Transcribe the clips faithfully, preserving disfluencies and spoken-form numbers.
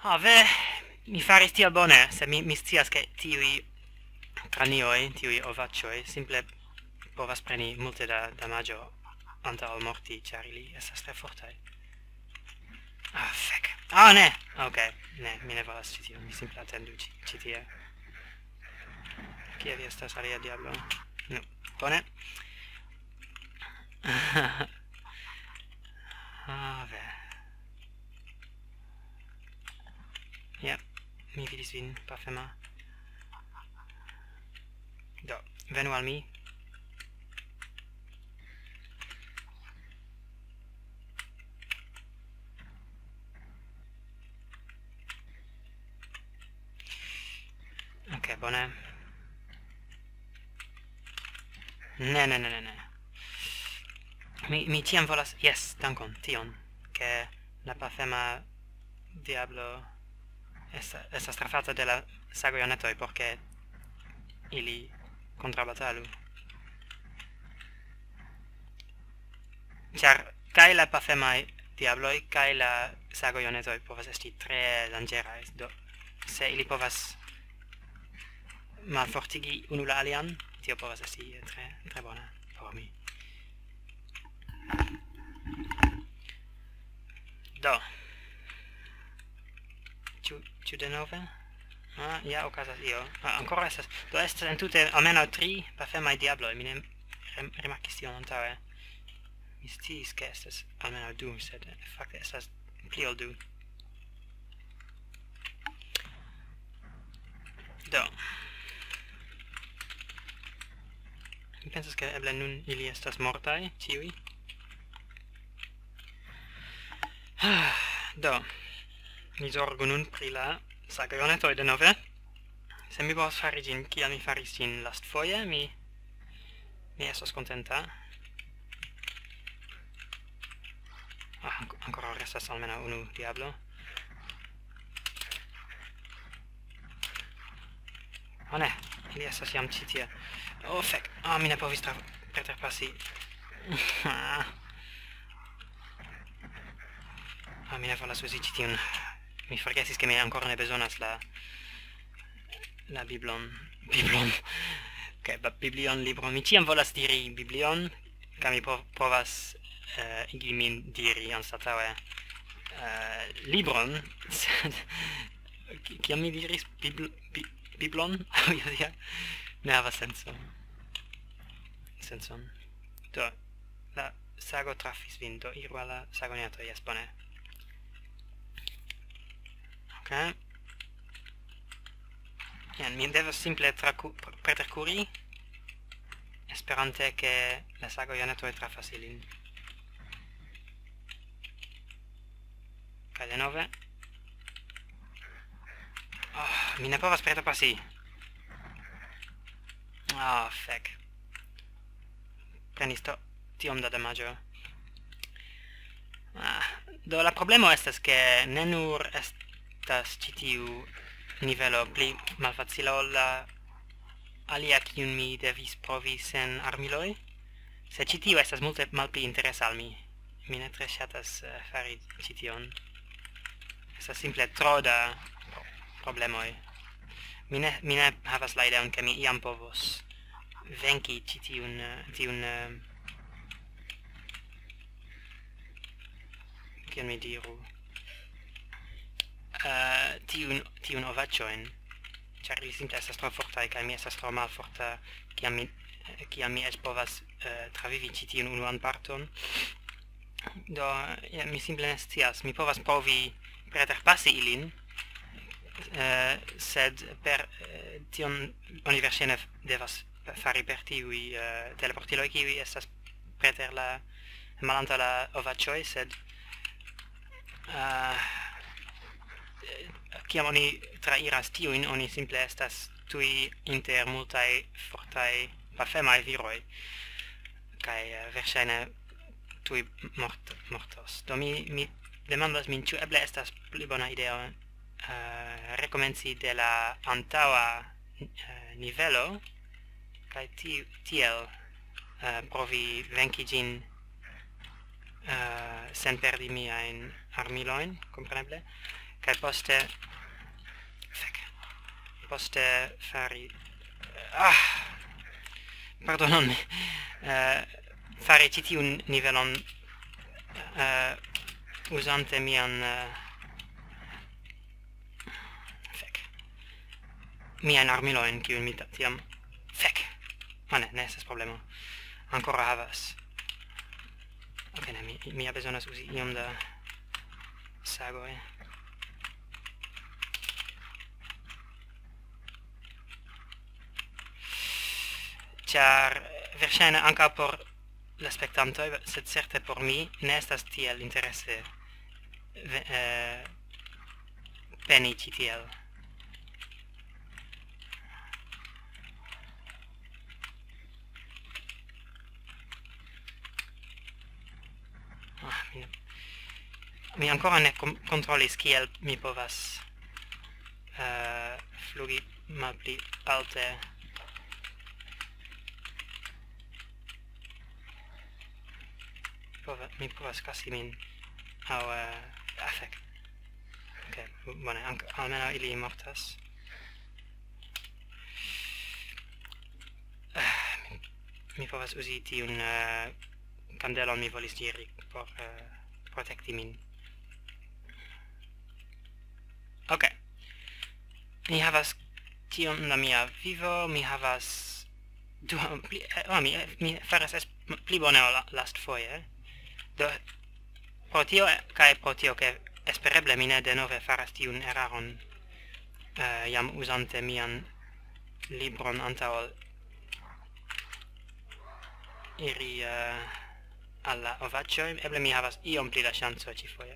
Ah, ve, mi faris tiel bone, se mi, mi scias, ke tiuj kranioj, tiuj ovaĉoj, simple povas preni multe da damaĝo antaŭ ol morti, ĉar ili estas tre fortaj. Ah, fek. Ah, ne! Ok, ne, mi ne volas ĉi tion, mi simple atendu ĉi, ĉi tie. Kie vi estas, alia diablo? Nu, bone. Ah, ve. Ja, mi vidis vin, pafema. Do, venu al mi. Ok, bone. Ne, ne, ne, ne, ne. Mi, mi ĉiam volas, jes, dankon, tion, ke la pafema diablo esta-, estas trafata de la sagojonetoj, por ke ili kontrabatalu. Ĉar kaj la pafemaj diabloj, kaj la sagojonetoj povas esti tre danĝeraj. Do, se ili povas malfortigi unu la alian, tio povas esti tre, tre bona por mi. Do. Ĉu, ĉu denove? Ah, ja, okazas io. Ah, ankoraŭ estas. Do, estas entute almenaŭ tri pafemaj diabloj. Mi ne rem-, rimarkis tion antaŭe. Mi sciis, ke estas almenaŭ du, sed fakte estas pli ol du. Do. Mi pensas, ke eble nun ili estas mortaj, ĉiuj. Do. Mi zorgu nun pri la sagojonetoj denove. Se mi povas fari ĝin, kiel mi faris ĝin lastfoje, mi, mi estos kontenta. Ah, ank-, ankoraŭ restas almenaŭ unu diablo. Oh ne, ili estas jam ĉi tie. Oh, fek. Ah, mi ne povis tra-, preterpasi. Ah. Ah, mi ne volas uzi ĉi tiun. Mi forgesis, ke mi ankoraŭ ne bezonas la, la biblon. Biblon. Ok, ba-, biblion, libron. Mi ĉiam volas diri biblion, kaj mi po-, povas, eh, igi min diri anstataŭe, eh, libron, sed ki-, kiam mi diris bibl-, bi-, biblon? Ja, ja. Ne havas senso. Sencon. Do, la sago trafis vin, do iru al la sagoneto, jes, bone. Ok. Jen, mi devas simple traku-, pr-, preterkuri, esperante, ke la sagojonetoj trafas ilin. Kaj denove. Oh, mi ne povas preterpasi. Ah, fek. Prenis to-, tiom da damaĝo. Ah, do la problemo estas, ke ne nur estas ĉi tiu nivelo pli malfacila ol la alia, kiun mi devis provi sen armiloj, sed ĉi tiu estas multe malpli interesa al mi. Mi ne tre ŝatas, eh, fari ĉi tion. Estas simple tro da pro-, problemoj. Mi ne, mi ne havas la ideon, ke mi iam povos venki ĉi tiun, eh, tiun, eh, kiel mi diru, eh, tiun, tiun ovaĉojn, ĉar ili simple estas tro fortaj, kaj mi estas tro malforta, kiam mi, eh, kiam mi eĉ povas, eh, travivi ĉi tiun unuan parton. Do, ja, mi simple ne scias. Mi povas provi preterpasi ilin, eh, sed per, eh, tion oni verŝajne f-, devas pe-, fari per tiuj, eh, teleportiloj, kiuj estas preter la, malantaŭ la ovaĉoj, sed, eh, kiam oni trairas tiujn, oni simple estas tuj inter multaj fortaj pafemaj viroj, kaj, eh, verŝajne tuj mort-, mortos. Do mi, mi demandas min, ĉu eble estas pli bona ideo, eh, rekomenci de la antaŭa, eh, nivelo, kaj ti-, tiel, eh, provi venki ĝin, eh, sen perdi miajn armilojn, kompreneble. Kaj poste... Fek. Poste fari... Ah! Pardonon mi. Eh, fari ĉi tiun nivelon, eh, uzante mian, eh, fek. Miajn armilojn, kiujn mi ta-, tiam... Fek! Ah, ne, ne estas problemo. Ankoraŭ havas. Ok, ne, mi, mi ja bezonas uzi iom da sagoj. Ĉar, eh, verŝajne ankaŭ por la spektantoj, sed certe por mi ne estas tiel interese ve-, eh, peni ĉi tiel. Ah, mi, mi ankoraŭ ne kom-, kontrolis, kiel mi povas, eh, flugi malpli alte. Prova-, mi provas kasi min. Aŭ, eh, ah, fek. Ok, bone, ank-, almenaŭ ili mortas. Ah, mi, mi povas uzi tiun, eh, kandelon, mi volis diri, por, eh, protekti min. Ok. Mi havas tiom da mia vivo, mi havas du-, pli, eh, oh, mi, eh, mi faras es-, pli bone ol la-, lastfoje. Do, pro tio, eh, kaj pro tio, ke espereble mi ne denove faras tiun eraron, eh, jam uzante mian libron antaŭ ol iri, eh, al la ovaĉoj, eble mi havas iom pli da ŝanco ĉifoje.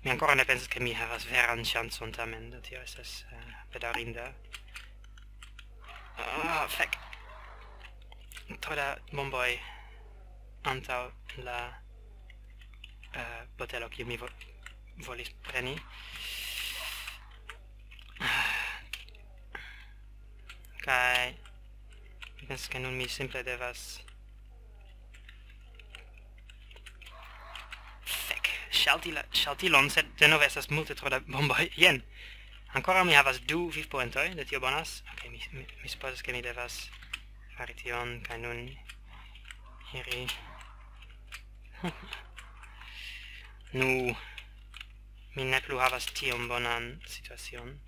Mi ankoraŭ ne pensas, ke mi havas veran ŝancon tamen, do tio estas, eh, bedaŭrinda. Ah, fek. Tro da bomboj antaŭ la, eh, botelo, kiu mi vo-, volis preni. Kaj mi pensas, ke nun mi simple devas... Fek, ŝalti la, ŝaltilon, sed denove estas multe tro da bomboj. Jen. Ankoraŭ mi havas du vivpoentoj, de tio bonas. Ok, mi, mi, mi supozas, ke mi devas fari tion, kaj nun iri. Nu, mi ne plu havas tiom bonan situacion.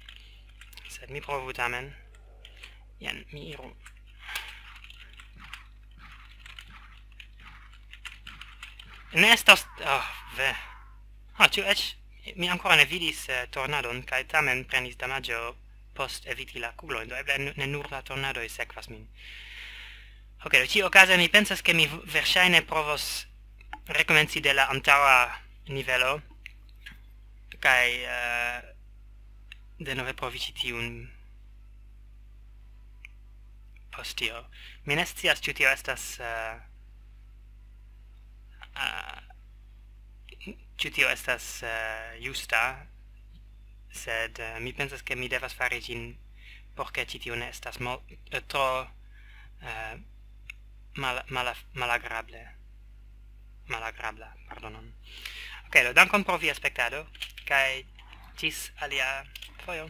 Sed mi provu tamen. Jen, mi iru. Ne estas, oh, ve. Ah, ĉu eĉ mi ankoraŭ ne vidis, eh, tornadon, kaj tamen prenis damaĝo post eviti la kuglojn, do eble nu-, ne nur la tornadoj sekvas min. Ok, do ĉiuokaze mi pensas, ke mi v-, verŝajne provos rekomenci de la antaŭa nivelo, kaj, eh, denove provi ĉi tiun post tio. Mi ne scias, ĉu tio estas, eh, eh, ĉu tio estas, eh, justa, sed, eh, mi pensas, ke mi devas fari ĝin, por ke ĉi tio ne estas mol-, eh, tro, eh, mal-, mala-, malagrable. Malagrabla, pardonon. Ok, do dankon pro via spektado, kaj ĝis alia fojo.